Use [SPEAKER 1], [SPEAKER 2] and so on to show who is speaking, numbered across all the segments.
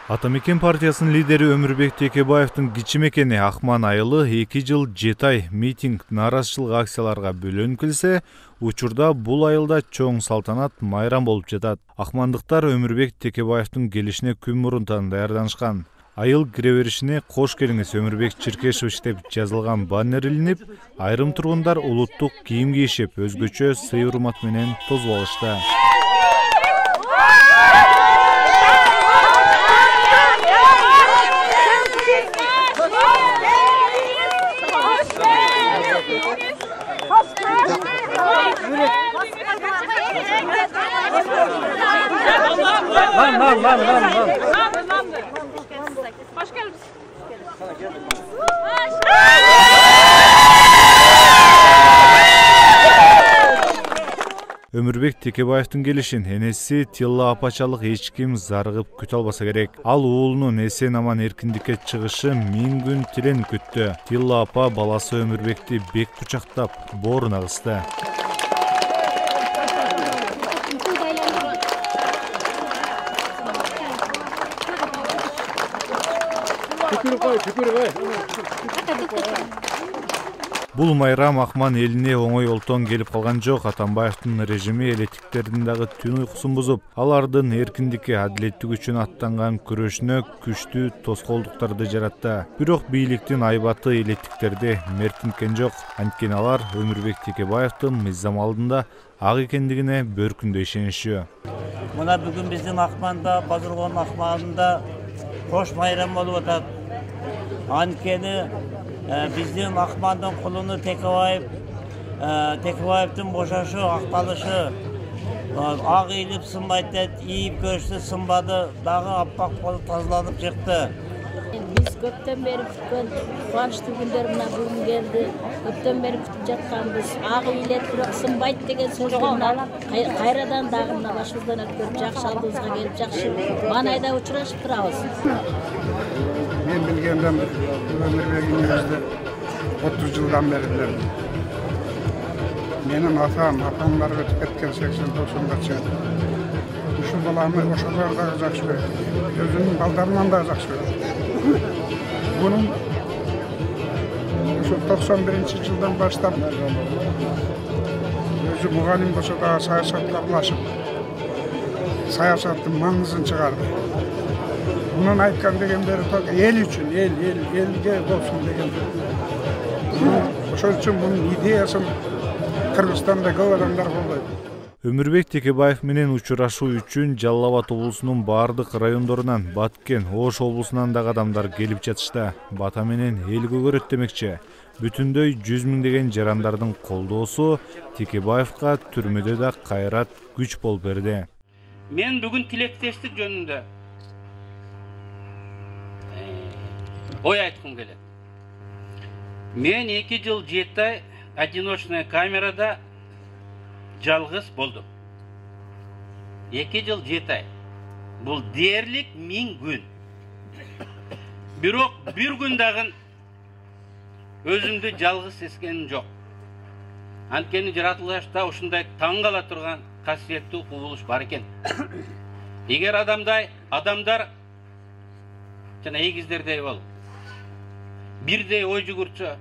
[SPEAKER 1] Атамекен партиясынын лидери Өмүрбек Текебаевдин кичи мекени Акман айылы 2 жыл 7 ай митинг, нааразычылык акцияларга бөлөнүп келсе, учурда бул айылда чоң салтанат майрам болуп жатат. Акмандыктар Өмүрбек Текебаевдин келишине күн мурунтан даярданышкан. Айыл кире беришине «Кош келиңиз Өмүрбек Черкешевич» деп жазылган баннер илинип, айрым тургундар улуттук кийим кийишип, өзгөчө сый-урмат менен тосуп алышты.
[SPEAKER 2] Hoş geldiniz.
[SPEAKER 1] Өмүрбек Текебаевдин келишин энеси Тилла апачалык эч ким зарыгып күтө албаса керек. Ал уулунун эсен аман эркиндикке чыгышы 1000 күн тиленип күттү. Тилла апа баласы Өмүрбекти бек кучактап, бооруна кысты. Бул майрам Акман элине оңой олтон келип калган жок. Атамбаевдин режими элеттиктердин дагы түн уйкусун бузуп, алардын эркиндикке, адилеттик үчүн аттанган күрөшүнө күчтүү тоскоолдуктарды жаратты. Бирок бийликтин айбаты элеттиктерди меркинткен жок. Анткени алар Өмүрбек Текебаевдин мыйзам алдында ак экендигине бөркүндө ишенишүү.
[SPEAKER 3] Мына бүгүн биздин Акманда, Базыргон Акманында кош майрам болуп атат. Анткени биздин Акмандын кулуну Текебаевдин бошошу, акталышы ак ийилип сынбайт дейт, ийип көрүштү сынбады, дагы аппак болуп тазаланып чыкты.
[SPEAKER 4] Биз көптөн бери күткөн кубанычтуу күндөр мына бүгүн келди. Көптөн бери күтүп жатканбыз. Ак ийилет, бирок сынбайт деген сөздөрдөн кайрадан дагы мына башыбыздан өткөрүп, жакшы алдыбызга келип, жакшы маанайда учурашып турабыз.
[SPEAKER 5] Мен билгенден Өмүрбегиңизди 30 жылдан бери билем. Менин апамдар өтүп кеткен 80-90 чейин. Ушул баланы ошолор дагы жакшы көрөт. Өзүнүн балдарынан дагы жакшы көрөт. Bunun şu 91 жылдан баштап өзү мугалим болсо да саясатка аралашып, саясаттын маңызын чыгарды. Bunun айткан дегендери эл үчүн, элге болсун деген. Ошол үчүн бунун идеясын Кыргызстанда көп адамдар колдойт.
[SPEAKER 1] Өмүрбек Текебаев менен учурашуу үчүн Жалал Абад облусунун бардык райондорунан, Баткен, Ош облусунан дагы адамдар келип жатышты. Бата менен эл көгөрөт демекчи. Бүтүндөй 100 миңдеген жарандардын колдоосу Текебаевга түрмөдө да кайрат, күч болуп берди.
[SPEAKER 6] Мен бүгүн тилектештик жөнүндө ой айткым келет. Мен 2 жыл 7 ай одиночная камерада жалгыз болдум. 2 жыл 7 ай. Бул дээрлик 1000 күн. Бирок бир күн дагы өзүмдү жалгыз сезгеним жок. Анткени жаратылышта ушундай таң кала турган касиеттүү кубулуш бар экен. Эгер адамдар жана эгиздердей болуп, бирдей ой жүгүртсө,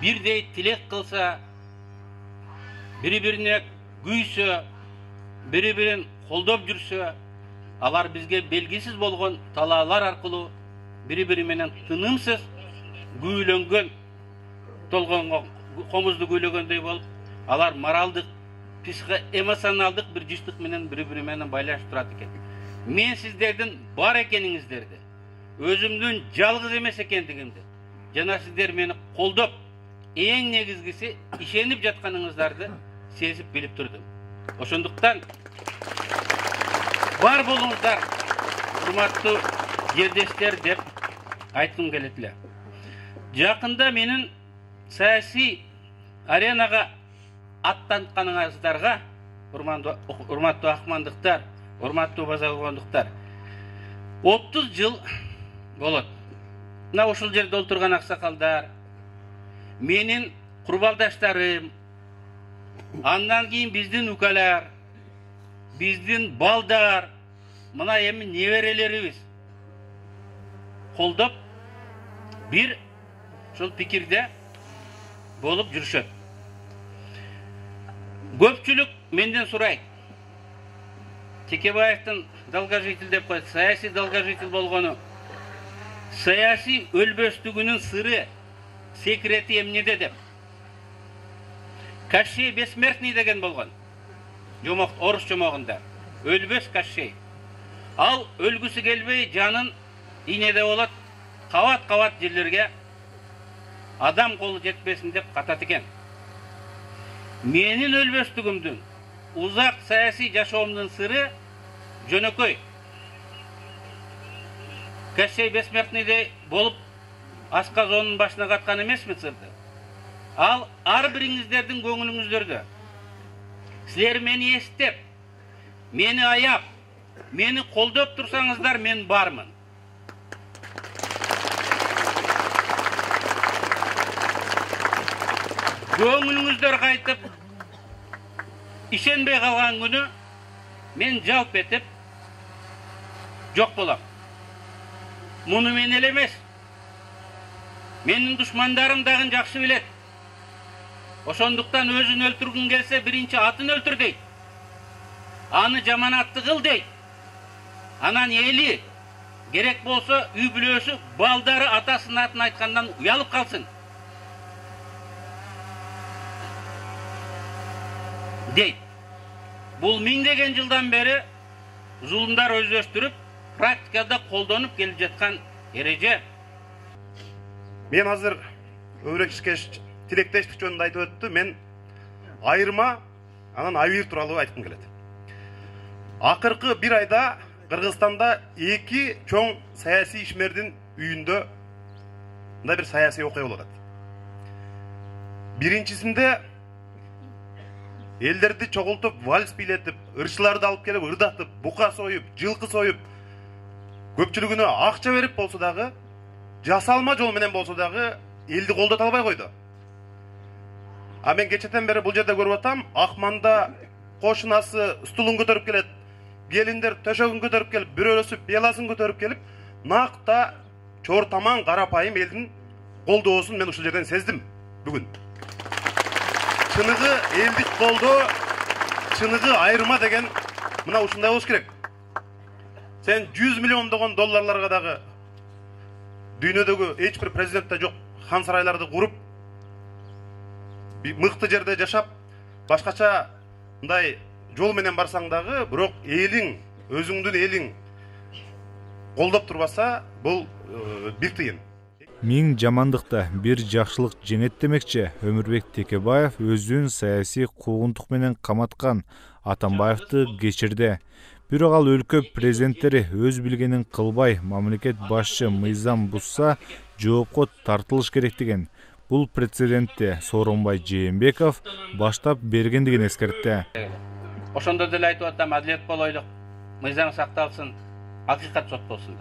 [SPEAKER 6] бирдей тилек кылса, бири-бирине күйсө, бири-бирин колдоп жүрсө, алар бизге белгисиз болгон талаалар аркылуу бири-бири менен тынымсыз күүлөнгөн, толгонго комузду күүлөгөндөй болуп, алар моралдык, психоэмоционалдык бир жыштык менен бири-бири менен байланышып турат экен. Мен сиздердин бар экениңиздерди, өзүмдүн жалгыз эмес экендигимди, жана сиздер мени колдоп, эң негизгиси ишенип жатканыңыздарды сезип билип турдум. Ошондуктан бар болуңуздар, урматтуу жердештер деп айткым келет эле. Жакында менин саясий аренага аттантканыңыздарга, урматтуу акмандыктар, урматтуу базаргондуктар, 30 жыл болот. Мына ушул жерде отурган аксакалдар, менин курбалдаштарым, андан кийин биздин укалар, биздин балдар, мына эми неберелерибиз колдоп бир ушул пикирде болуп жүрүшөт. Көпчүлүк менден сурайт. Текебаевдин долгожитель деп коет, саясий долгожитель болгону. Саясий өлбөстүгүнүн сыры, секрети эмнеде деп. Кощей бессмертный деген болгон. Жомок, орус жомогунда. Өлбөс Кощей. Ал өлгүсү келбей жанын ийнеде болот, кабат-кабат жерлерге адам колу жетпесин деп катат экен. Менин өлбөстүгүмдүн, узак саясий жашоомдун сыры жөнөкөй. Кощей бессмертныйдей болуп асказонун башына каткан эмесми сырды? Ал ар бириңиздердин көңүлүңүздөрдө. Силер мени эстеп, мени аяп, мени колдоп турсаңыздар, мен бармын. Көңүлүңүздөр кайтып, ишенбей калган күнү мен жалп этип жок болам. Муну мен эле эмес. Менин душмандарым дагы жакшы билет. Ошондуктан өзүн өлтүргүн келсе, биринчи атын өлтүр дейт. Аны жаманатты кыл дейт. Анан эли керек болсо үй бүлөсү, балдары атасынын атын айткандан уялып калсын. Дейт. Бул миңдеген жылдан бери зулумдар өздөштүрүп, практикада колдонуп келип жаткан эреже.
[SPEAKER 2] Мен азыр Өмүрбек тилектештик жөнүндө айтып өттү. Мен айырма, анан Айвир тууралуу айткым келет. Акыркы бир айда Кыргызстанда эки чоң саясий ишмердин үйүндө мындай бир саясий окуя болуп атат. Биринчисинде элдерди чогултуп, вальс бийлетип, ырчыларды алып келип, ырдатып, бука союп, жылкы союп, көпчүлүгүнө акча берип болсо дагы, жасалма жол менен болсо дагы элди колдото албай койду. А мен кечетен бери бул жерде көрүп атам, Акманда кошунасы стулун көтөрүп келет, келиндер төшөгүн көтөрүп келип, бирөөлөсү пияласын көтөрүп келип, накта чортаман карапайым элдин колдоосун мен ушул жерден сездим бүгүн. Чыныгы элдик колдоо, чыныгы айырма деген мына ушундай болуш керек. Сен 100 миллиондогон долларларга дагы дүйнөдөгү эч бир президентте жок хан сарайларды куруп, мыкты жерде жашап, башкача мындай жол менен барсаң дагы, бирок элиң, өзүңдүн элиң колдоп турбаса, бул бир тыйын.
[SPEAKER 1] Миң жамандыкта бир жакшылык жеңет демекчи Өмүрбек Текебаев өзүн саясий куугунтук менен каматкан Атамбаевди кечирди. Бирок ал өлкө президенттери өз билгенин кылбай, мамлекет башчы мыйзам бузса, жоопко тартылыш керек деген. Бул прецедентти Сооронбай Жээнбеков баштап бергендигин эскертти.
[SPEAKER 6] Ошондо деле айтып атам, адилет болойлук, мыйзам сакталсын, акыйкат сот болсун.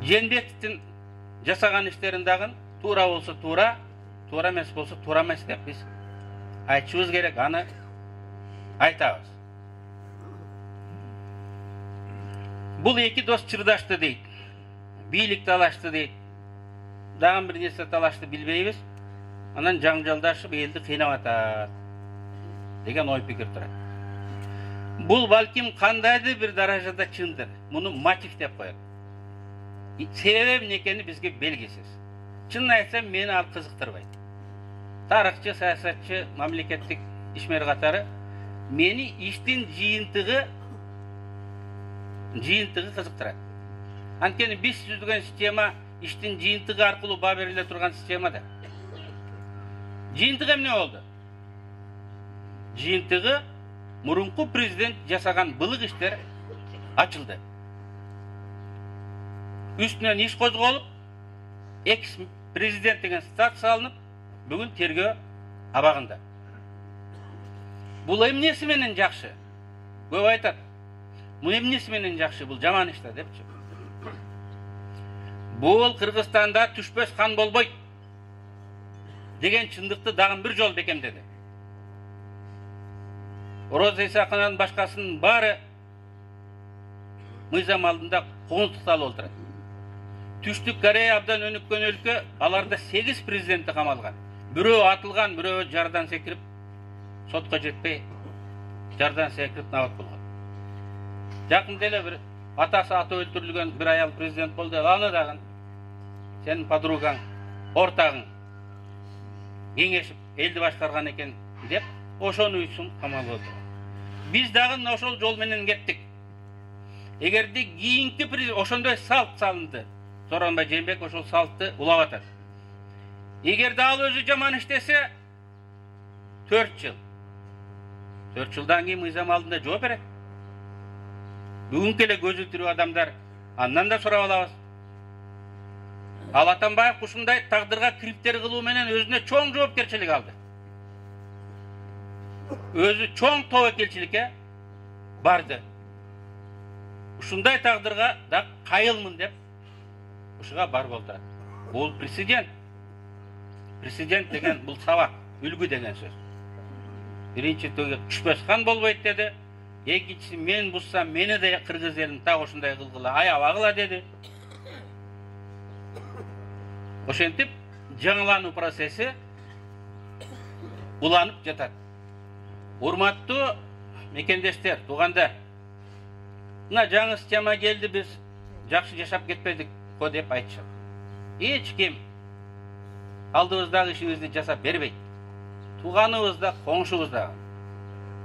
[SPEAKER 6] Жээнбековдун жасаган иштерин дагы туура болсо туура, туура эмес болсо туура эмес деп биз айтышыбыз керек, аны айтабыз. Бул эки дос чырдашты дейт. Бийлик талашты дейт. Дагы бир нерсе талашты билбейбиз. Анан жаңжалдашып элди кыйнап атат деген ой пикир турат. Бул балким кандайдыр бир даражада чындыр. Муну мотив деп коет. Себеби эмне экени бизге белгисиз. Чынын айтсам, мени ал кызыктырбайт. Тарыхчы, саясатчы, мамлекеттик ишмер катары мени иштин жыйынтыгы кызыктырат. Анткени биз түзүлгөн система иштин жыйынтыгы аркылуу баа бериле турган система да. Жыйынтыгы эмне болду? Жыйынтыгы мурунку президент жасаган былык иштер ачылды. Үстүнөн иш козголуп, экс-президент деген статус алынып, бүгүн тергөө абагында. Бул эмнеси менен жакшы? Көп айтат. Бул эмнеси менен жакшы? Бул жаман иш да депчи. Бул Кыргызстанда түшпөс хан болбойт деген чындыкты дагы бир жол бекемдеди. Ороза Исаканын башкасынын баары мыйзам алдында куугунтукталып отурат. Түштүк Корея абдан өнүккөн өлкө, аларда 8 президенти камалган. Бирөө атылган, бирөө жардан секирип, сотко жетпей, жардан секирип набат болгон. Жакында эле бир атасы аты өлтүрүлгөн бир аял президент болду. Аны дагы сенин подругаң, ортагың кеңешип элди башкарган экен деп, ошону үчүн камалып отур. Биз дагы ошол жол менен кеттик. Эгерде кийинки президент ошондой салт салынды, Сооронбай Жээнбеков ошол салтты улап атат. Эгерде ал өзү жаман иштесе, 4 жыл. 4 жылдан кийин мыйзам алдында жооп берет. Бүгүнкү эле көзү тирүү адамдар андан да сурап алабыз. Ал Атамбаев ушундай тагдырга кириптер кылуу менен өзүнө чоң жоопкерчилик алды. Өзү чоң тобокелчиликке барды. Ушундай тагдырга да кайылмын деп ушуга барып отурат. Бул президент. Президент деген бул сабак, үлгү деген сөз. Биринчи төге күчпөс хан болбойт деди. Экинчиси мен буссам мени да кыргыз элин так ушундай кылгыла, аябагыла деди. Ошентип жаңылануу процесси уланып жатат. Урматтуу мекендештер, туугандар. Мына жаңы система келди, биз жакшы жашап кетпедик го деп айтышат. Эч ким алдыбыздагы ишибизди жасап бербейт. Тууганыбыз да, коңшубуз да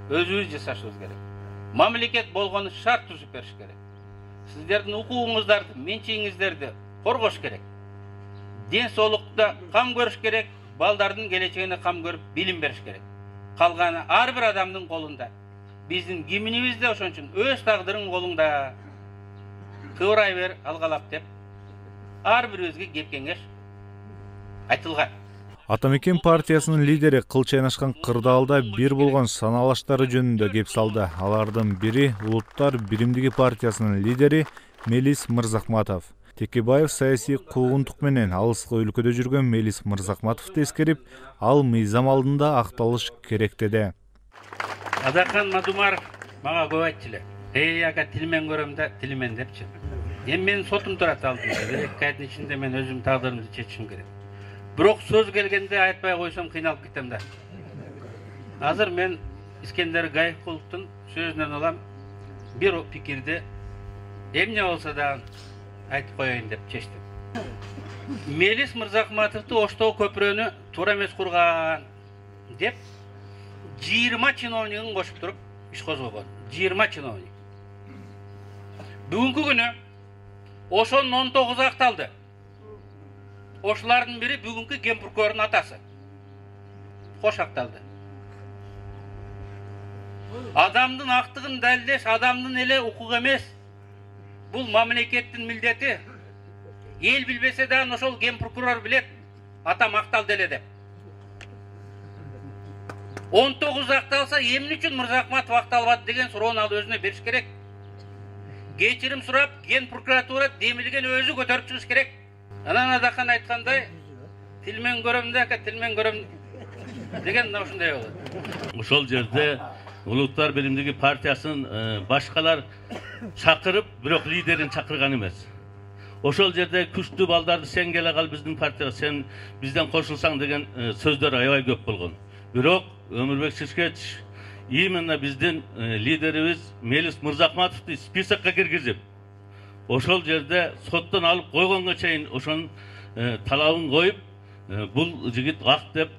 [SPEAKER 6] өзүбүз жасашыбыз керек. Мамлекет болгону шарт түзүп бериш керек. Сиздердин укугуңуздарды, менчигиңиздерди коргош керек. Ден соолукта кам көрүш керек, балдардын келечегине кам көрүп билим бериш керек. Калганы ар бир адамдын колунда. Биздин киминибиз да ошон үчүн өз тагдырың колуңда. Кыбырай бер, алгалап деп ар бирибизге кеп кеңеш айтылган.
[SPEAKER 1] Атамекен партиясынын лидери кылча айнашкан кырдаалда бир болгон саналаштары жөнүндө кеп салды. Алардын бири Улуттар биримдиги партиясынын лидери Мелис Мырзахматов. Текебаев саясий куугунтук менен алыскы өлкөдө жүргөн Мелис Мырзахматовду эскерип, ал мыйзам алдында акталыш керек деди.
[SPEAKER 6] Адахан Мадумаров мага көп айтчу эле. Ага тилмен көрөм да, тилмен депчи. Эми менин сотум турат алдымда. 2 айдын ичинде мен өзүм тагдырымды чечишим керек. Бирок сөз келгенде айтпай койсом кыйналып кетем да. Азыр мен Искендер Гайыкуловдун сөзүнөн алам, бир пикирди эмне болсо да айтып коеюн деп чечтим. Мелис Мырзахматовду Оштогу көпүрөнү туура эмес курган деп 20 чиновнигин кошуп туруп иш козгогон. 20 чиновник. Бүгүнкү күнү ошонун 19 акталды. Ошолардын бири бүгүнкү ген прокурордун атасы. Кош акталды. Адамдын актыгын далилдеш адамдын эле укугу эмес. Бул мамлекеттин милдети. Эл билбесе да ошол ген прокурор билет. Атам акталды эле деп. 19 акталса эмне үчүн Мырзахматов акталбады деген суроону ал өзүнө бериш керек. Кечирим сурап, ген прокуратура демилген өзү көтөрүп чыгыш керек. Анан Адахан айткандай, тилмен көрөм да, тилмен көрөм деген ушундай болот.
[SPEAKER 7] Ошол жерде Улуттар биримдиги партиясын башкалар чакырып, бирок лидерин чакырган эмес. Ошол жерде күчтүү балдарды сен келе кал биздин партияга, сен бизден кошулсаң деген сөздөр аябай көп болгон. Бирок Өмүрбек Шишкеч именно биздин лидерибиз Мелис Мырзахматовду списокко киргизип, ошол жерде соттон алып койгонго чейин ошонун талабын коюп, бул жигит ак деп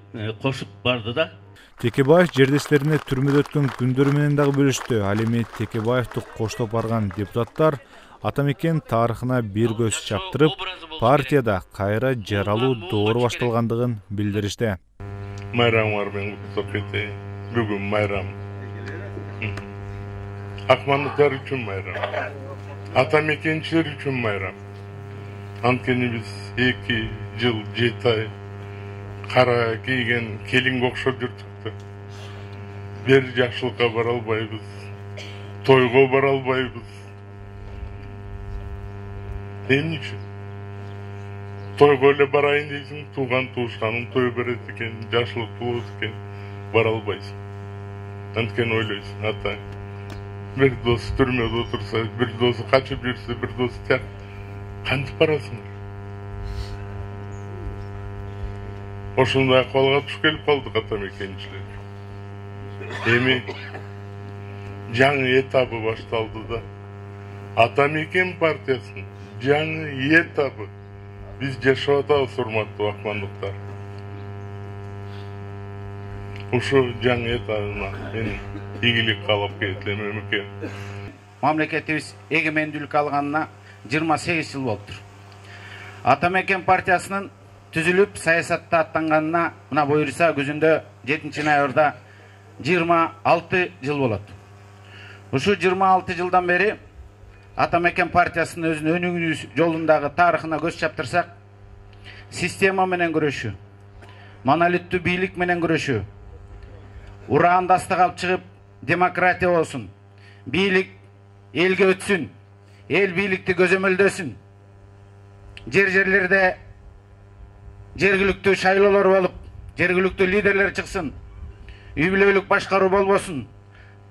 [SPEAKER 7] кошуп барды да.
[SPEAKER 1] Текебаев жердештерине түрмөдө өткөн күндөрү менен дагы бөлүштү. Ал эми Текебаевди коштоп барган депутаттар Атамекен тарыхына бир көз чаптырып, партияда кайра жаралуу доору башталгандыгын билдиришти.
[SPEAKER 8] Майрам бар мен куттуктап кетейин. Бүгүн майрам. Акмандыктар үчүн майрам. Атамекенчилер үчүн майрам. Анткени биз 2 жыл 7 ай кара кийген келинге окшоп жүрдүк да. Бир жакшылыкка бара албайбыз. Тойго бара албайбыз. Эмне үчүн? Тойго эле барайын дейсиң, тууган туушканың той берет экен, жакшылык болот экен, бара албайсың. Анткени ойлойсуң, ата, бир досу түрмөдө отурса, бир досу качып жүрсө, бир досу тияк кантип барасыңар? Ошондой акыбалга туш келип калдык ата мекенчилер. Эми жаңы этабы башталды да. Ата мекен партиясынын жаңы этабы биз жашап атабыз, урматтуу акмандыктар. Ушул жаңы этабына мен ийгилик каалап келем эмеке.
[SPEAKER 9] Мамлекетибиз эгемендүүлүк алганына 28 жыл болуптур. Ата мекен партиясынын түзүлүп саясатта аттанганына мына буюрса күзүндө 7-ноябрда 26 жыл болот. Ушул 26 жылдан бери Ата мекен партиясынын өзүнүн өнүгүү жолундагы тарыхына көз чаптырсак, система менен күрөшүү, монолиттүү бийлик менен күрөшүү, ураандастык алып чыгып демократия болсун, бийлик элге өтсүн, эл бийликти көзөмөлдөсүн, жерлерде жергиликтүү шайлоолор болуп, жергиликтүү лидерлер чыксын, үй бүлөлүк башкаруу болбосун,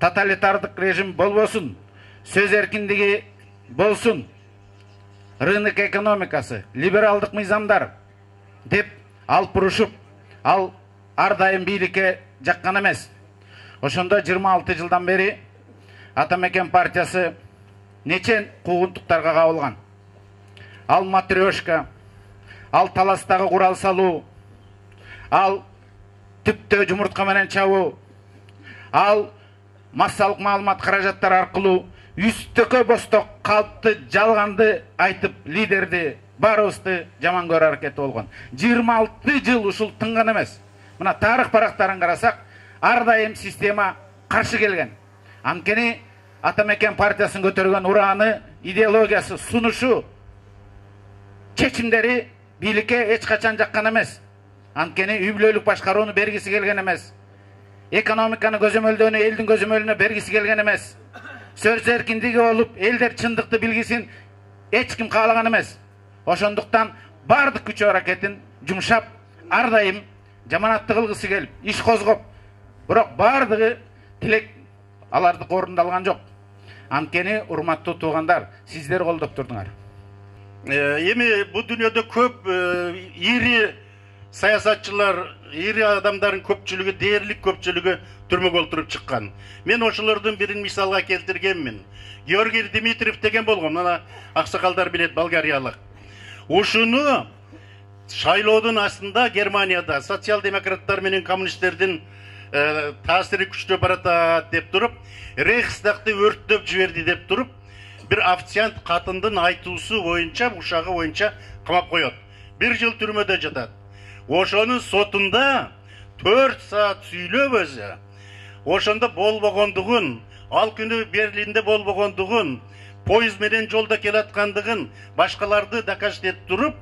[SPEAKER 9] тоталитардык режим болбосун, сөз эркиндиги болсун, рынок экономикасы, либералдык мыйзамдар деп алып урушуп, ал ар дайым бийликке жаккан эмес. Ошондо 26 жылдан бери Ата мекен партиясы нече куугунтуктарга кабылган. Ал матрешка, ал таластагы курал салуу, ал түптө жумуртка менен чабуу, ал массалык маалымат каражаттары аркылуу үстөкө босток калпты жалганды айтып лидерди баарыбызды жаман көрүү аракети болгон. 26 жыл ушул тынган эмес. Мына тарых барактарын карасак, ар дайым система каршы келген. Анткени Ата мекен партиясын көтөргөн урааны, идеологиясы, сунушу, чечимдери бийликке эч качан жаккан эмес. Анткени үй бүлөлүк башкарууну бергиси келген эмес. Экономиканы көзөмөлдөөнү элдин көзөмөлүнө бергиси келген эмес. Сөз эркиндиги болуп, элдер чындыкты билгисин эч ким каалаган эмес. Ошондуктан бардык күч аракетин жумшап, ар дайым жаманатты кылгысы келип, иш козгоп, бирок бардыгы тилек алардык орундалган жок. Анткени урматтуу туугандар, сиздер колдоп турдуңар.
[SPEAKER 2] Эми бул дүйнөдө көп ири саясатчылар, ири адамдардын көпчүлүгү, дээрлик көпчүлүгү түрмөгө олтуруп чыккан. Мен ошолордун бирин мисалга келтиргенмин. Георгий Дмитриев деген болгон, мына аксакалдар билет, болгариялык. Ушуну шайлоодун астында Германияда социал-демократтар менен коммунисттердин таасири күчтөп баратат деп туруп, Рейхстагты өрттөп жиберди деп туруп, бир официант катындын айтуусу боюнча, ушагы боюнча камап коет. 1 жыл түрмөдө жатат. Ошонун сотунда 4 саат сүйлөп өзү, ошондо болбогондугун, ал күнү Берлинде болбогондугун, поезд менен жолдо келаткандыгын, башкаларды доказать этип туруп,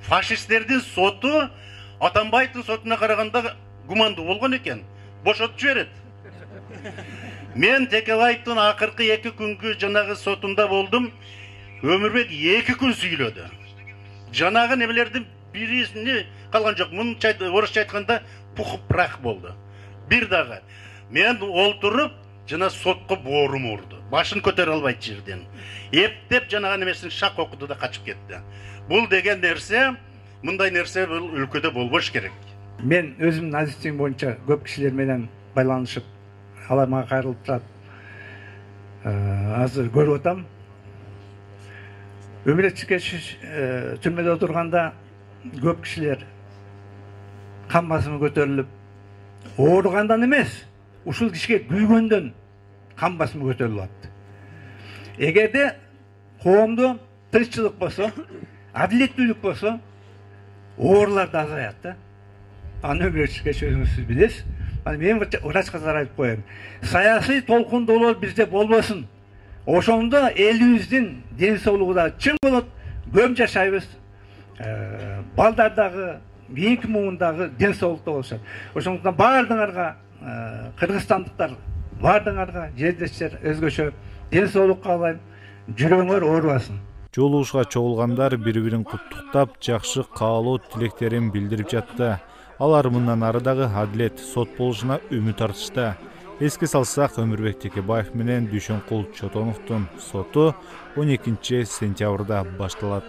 [SPEAKER 2] фашисттердин соту Атамбаевдин сотуна караганда гумандуу болгон экен. Бошотуп жиберет. Мен Текебаевдин акыркы 2 күнгү жанагы сотунда болдум. Өмүрбек 2 күн сүйлөдү. Жанагы немелердин бирисини калган жок. Мунча орусча айтканда пух прах болду. Бир дагы мен олтуруп жана сотко боорум урду. Башын көтөрө албайт жерден. Эптеп жанагы немесин шак окуду да качып кетти. Бул деген нерсе, мындай нерсе бул өлкөдө болбош керек.
[SPEAKER 10] Мен өзүмдүн адистигим боюнча көп кишилер менен байланышып, алар мага кайрылып турат. Азыр көрүп атам. Өмүрбек Чекешев түрмөдө отурганда көп кишилер кан басымы көтөрүлүп, ооругандан эмес, ушул кишиге күйгөндөн кан басымы көтөрүлүп атты. Эгерде коомдо тынччылык болсо, адилеттүүлүк болсо, оорулар да азаят да. Аны Өмүрбек Чекешев өзүңүз билесиз. Мен врачка айтып коем. Саясий толкундоолор бизде болбосун. Ошондо элибиздин ден соолугу да чың болот, көп жашайбыз. Балдар дагы, кийинки муундагы ден соолукта болушат. Ошондуктан баардыгыңарга, кыргызстандыктар, баардыгыңарга, жердештер өзгөчө ден соолук каалайм. Жүрөгүңөр оорубасын.
[SPEAKER 1] Жолугушка чогулгандар бири-бирин куттуктап, жакшы каалоо тилектерин билдирип жатты. Алар мындан ары дагы адилет, сот болушуна үмүт артышты. Эске салсак, Өмүрбек Текебаев менен Дүйшөнкул Чотоновдун соту 12 сентябрда башталат.